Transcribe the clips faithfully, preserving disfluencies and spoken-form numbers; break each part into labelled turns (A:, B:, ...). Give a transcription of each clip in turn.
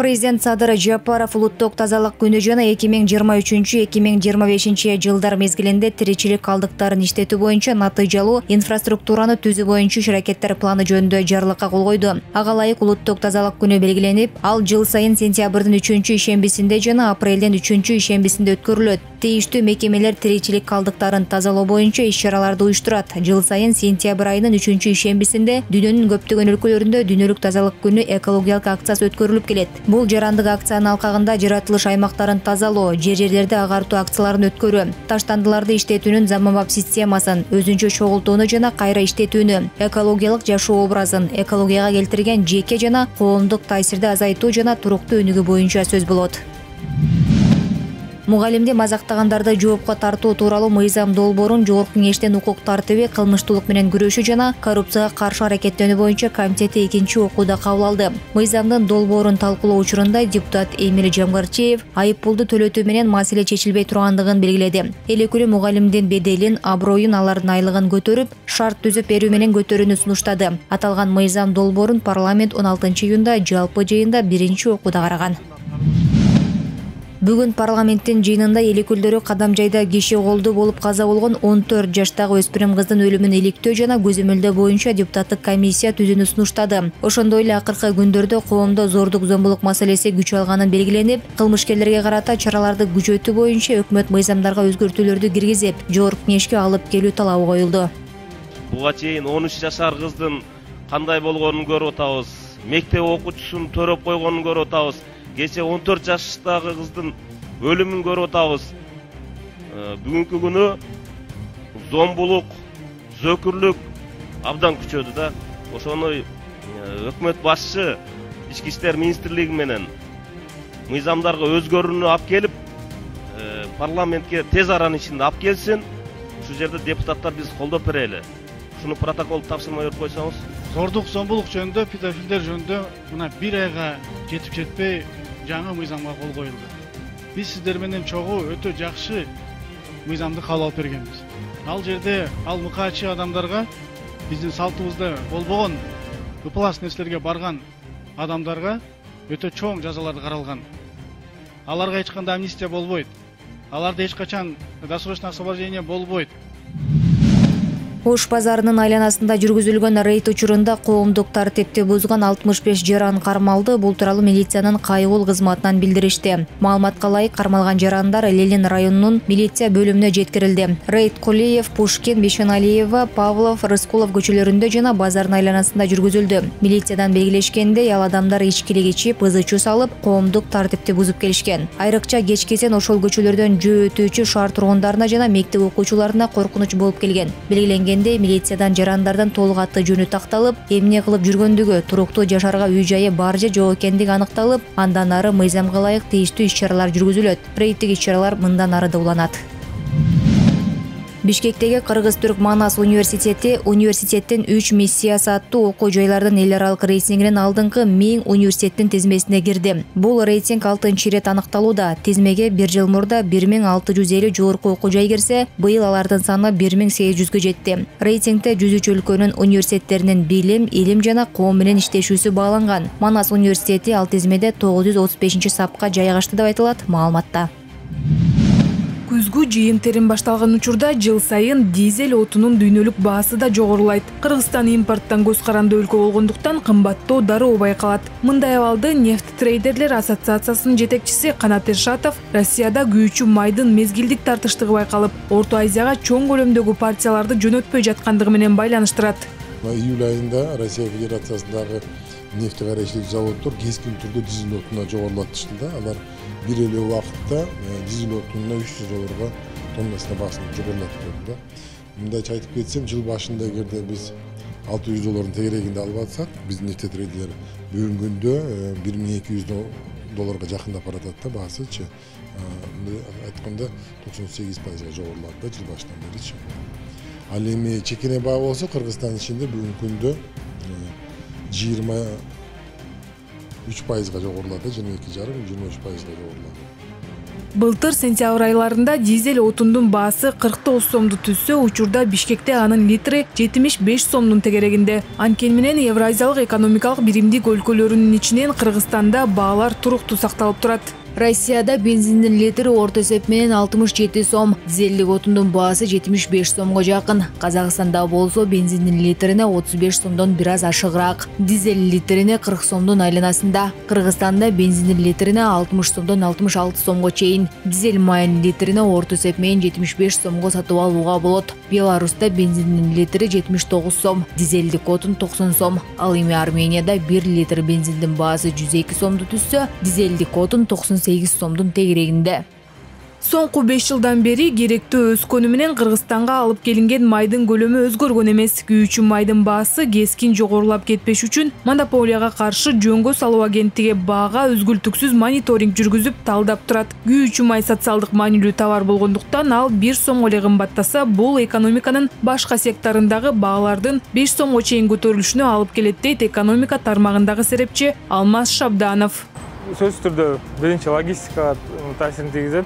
A: Президент Садыр Жапаров улуттук тазалык күнү жана эки миң жыйырма үчүнчү эки миң жыйырма бешинчи жылдар мезгилинде тиричилик калдыктарын иштетүү боюнча натыйжалуу инфраструктураны түзүү боюнча иш-аракеттер планы жөнүндө жарлыкка кол койду. Ага ылайык улуттук тазалык күнү белгиленип, ал жыл сайын сентябрдын үчүнчү ишембисинде жана апрелдин үчүнчү ишембисинде өткөрүлөт. Тийиштүү мекемелер тиричилик калдыктарын тазалоо боюнча иш-чараларды уюштурат. Жыл сайын сентябрь айынын үчүнчү ишембисинде дүйнөнүн көптөгөн өлкөлөрүндө дүйнөлүк тазалык күнү экологиялык акциясы өткөрүлүп келет. Бул жарандык акциянын алкагында жаратылыш аймактарын тазалоо, жер-жерлерди агартуу акцияларын өткөрүү, таштандыларды иштетүүнүн заманбап системасын, өзүнчө чогултууну жана кайра иштетүүнү, экологиялык жашоо образын, экологияга келтирген жеке жана коомдук таасирди азайтуу жана туруктуу өнүгүү боюнча сөз болот. Мугалимди мазактагандарды жоопко тартуу тууралуу мыйзам долбоорун Жогорку Кеңештин укук тартиби, кылмыштуулук менен күрөшүү жана коррупцияга каршы аракеттенүү боюнча комитети экинчи окууда кабыл алды. Мыйзамдын долбоорун талкуулоо учурунда депутат Эмиль Жамгарчиев айыппулду төлөтүү менен маселе чечилбей тургандыгын белгиледи. Эл өкүлү мугалимдин беделин, аброюн, алардын айлыгын көтөрүп, шарт түзүп берүү менен көтөрүүнү сунуштады. Аталган мыйзам долбоорун парламент он алтынчы июнда жалпы жыйында биринчи окууда караган. Бүгүн парламенттин жыйынында эл өкүлдөрү Кадамжайда киши колдуу болуп каза болгон он төрт жаштагы өспүрүм кыздын өлүмүн иликтөө жана көзөмөлдөө боюнча депутаттык комиссия түзүүнү сунуштады. Ошондой эле акыркы күндөрдө коомдо зордук зомбулук маселеси күч алганын белгиленип, кылмышкерлерге карата чараларды күчөтүү боюнча өкмөт мыйзамдарга өзгөртүүлөрдү киргизип, Жогорку Кеңешке алып келүү талабы коюлду.
B: Буга чейин он үч жашар кыздын кандай болгонун көрүп атабыз, мектеп окуучусун төрөп койгонун көрүп атабыз. Кече он төрт жаштагы кыздын өлүмүн көрүп атабыз. Бүгүнкү күнү зомбулук, зөкүрлүк абдан күчөдү да. Ошону өкмөт башчы Ички иштер министрлиги менен мыйзамдарга өзгөрүүнү алып келип, парламентке тез аранын ичинде алып келсин. Ушул жерде депутаттар биз колдоп берели. Шуну протокол тапшырма берип койсоңуз.
C: Зордук, зомбулук жөнүндө, педофилдер жөнүндө мына бир айга жетип жетпей жаңы мыйзамга кол коюлду. Биз сиздер менен чогуу өтө жакшы мыйзамды кабыл алып бергенбиз. Ал жерде ал мыкаачы адамдарга, биздин салтыбызда болбогон ыплас нерселерге барган адамдарга өтө чоң жазалар каралган. Аларга эч кандай амнистия болбойт. Аларда эч качан досрочное освобождение болбойт.
A: Ош базарынын айланасында жүргүзүлгөн рейд учурунда коомдук тартипти бузган алтымыш беш жаран кармалды. Бул тууралуу милициянын кайгыл кызматынан билдиришти. Маалыматка ылайык, кармалган жарандар Ленин районунун милиция бөлүмүнө жеткирилди. Рейд Кулиев, Пушкин, Бешеналиева, Павлов, Рыскулов көчөлөрүндө жана базардын айланасында жүргүзүлдү. Милициядан белгилешкендей, ал адамдар ичкилик ичип, ызы чуу салып, коомдук тартипти бузуп келишкен. Айрыкча кечкесен ошол көчөлөрдөн жөө өтүүчү шаар тургундарына жана мектеп окуучуларына коркунуч болуп келген. Белгиленген милициядан жарандардан толук аты жөнү такталып, эмне кылып жүргөндүгү, туруктуу жашарга үй-жайы бар же жок экендиги аныкталып, андан ары мыйзамга ылайык тийиштүү иш-чаралар жүргүзүлөт. Рейдтик иш-чаралар мындан ары да уланат. Бишкектеги Кыргыз-Түрк Манас университети университеттин үч миссиясы аттуу окуу жайлардын эл аралык рейтингинин алдыңкы миң университеттин тизмесине кирди. Бул рейтинг алтынчы ирет аныкталууда. Тизмеге бир жыл мурда бир миң алты жүз элүү жогорку окуу жай кирсе, быйыл алардын саны бир миң сегиз жүзгө жетти. Рейтингде жүз үч өлкөнүн университеттеринин билим, илим жана коом менен иштешүүсү бааланган. Манас университети ал тизмеде тогуз жүз отуз бешинчи сапка жайгашты деп айтылат маалыматта.
D: Күзгү жыйын-терим башталган учурда жыл сайын дизель отунун дүйнөлүк баасы да жогорулайт. Кыргызстан импорттон көз каранды өлкө болгондуктан кымбаттоо дароо байкалат. Мындай абалды нефть трейдерлер ассоциациясынын жетекчиси Канат Эршатов Россияда күйүүчү майдын мезгилдик тартыштыгы байкалып, Орто Азияга чоң көлөмдөгү партияларды жөнөтпөй жаткандыгы менен байланыштырат.
E: Июль айында Россия Федерациясындагы нефть карайчылык заводдор кескин түрдө дизель отуна жогорулатышты да. Алар бир эле убакытта дизель отунуна үч жүз долларга тоннасына баасын жогорулатып койду да. Мындайча айтып кетсем, жыл башында эгерде биз алты жүз доллардын тегерегинде алып атсак, биздин нефть трейдерлер бүгүнкү күндө бир миң эки жүз долларга жакындап баратат да баасычы. Айтканда токсон сегиз пайызга жогорулады да жыл башынан беричи. Ал эми чекене баа болсо Кыргызстан ичинде бүгүнкү күндө жыйырма үч пайызга жогорулады, жыйырма эки жарым жыйырма үч пайызга жогорулады.
D: Былтыр сентябрь айларында дизель отундун баасы кырк тогуз сомду түзсө, учурда Бишкекте анын литри жетимиш беш сомдун тегерегинде. Анткени менен Евразиялык экономикалык биримдик өлкөлөрүнүн ичинен Кыргызстанда баалар туруктуу сакталып турат.
A: Россияда бензиндин литри орто эсеп менен алтымыш жети сом, дизелдик отундун баасы жетимиш беш сомго жакын. Казакстанда болсо бензиндин литрине отуз беш сомдон бир аз ашыгыраак, дизель литрине кырк сомдун айланасында. Кыргызстанда бензиндин литрине алтымыш сомдон алтымыш алты сомго чейин, дизель майынын литрине орто эсеп менен жетимиш беш сомго сатып алууга болот. Беларуста бензиндин литри жетимиш тогуз сом, дизелдик отун токсон сом. Ал эми Арменияда бир литр бензиндин баасы жүз эки сомду түзсө, дизелдик отун токсон сегиз сомдун тегерегинде.
D: Соңку беш жылдан бери керектөө өскөнү менен Кыргызстанга алып келинген майдын көлөмү өзгөргөн эмес. Күйүүчү майдын баасы кескин жогорулап кетпеш үчүн монополияга каршы жөнгө салуу агенттиги баага үзгүлтүксүз мониторинг жүргүзүп талдап турат. Күйүүчү май социалдык маанилүү товар болгондуктан ал бир сомго эле кымбаттаса, бул экономиканын башка секторундагы баалардын беш сомго чейин көтөрүлүшүнө алып келет, дейт экономика тармагындагы серепчи Алмаз Шабданов.
F: Сөзсүз түрдө биринчи логистикага таасирин тийгизет,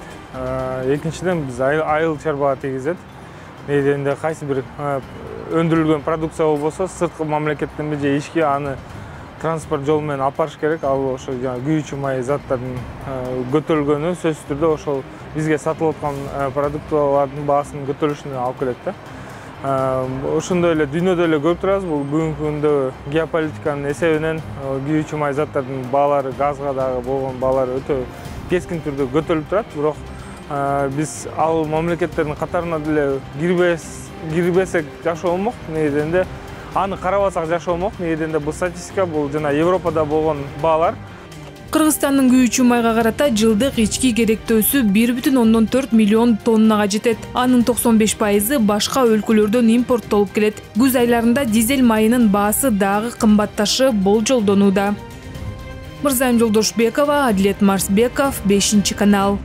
F: экинчиден биз айыл чарбага тийгизет. Негизинде кайсы бир өндүрүлгөн продукция болбосо, сырткы мамлекеттен же ички аны транспорт жолу менен алып барыш керек. Ал ошо күйүүчү май заттардын көтөрүлгөнү сөзсүз түрдө ошол бизге сатылып аткан продуктылардын баасынын көтөрүлүшүнө алып келет да. Ошондой эле дүйнөдө эле көрүп турабыз, бул бүгүнкү күндө геополитиканын эсебинен күйүүчү май заттардын баалары, газга дагы болгон баалары өтө кескин түрдө көтөрүлүп турат. Бирок биз ал мамлекеттердин катарына деле кирбес кирбесек жакшы болмок. Негизинде аны карабасак жакшы болмок. Негизинде бул статистика, бул жана Европада болгон баалар.
D: Кыргызстандын күйүүчү майга карата жылдык ички керектөөсү бир бүтүн ондон төрт миллион тоннага жетет. Анын токсон беш пайызы башка өлкөлөрдөн импорттолуп келет. Күз айларында дизель майынын баасы дагы кымбатташы болжолдонууда. Мырзайым Жолдошбекова, Адилет Марсбеков, бешинчи канал.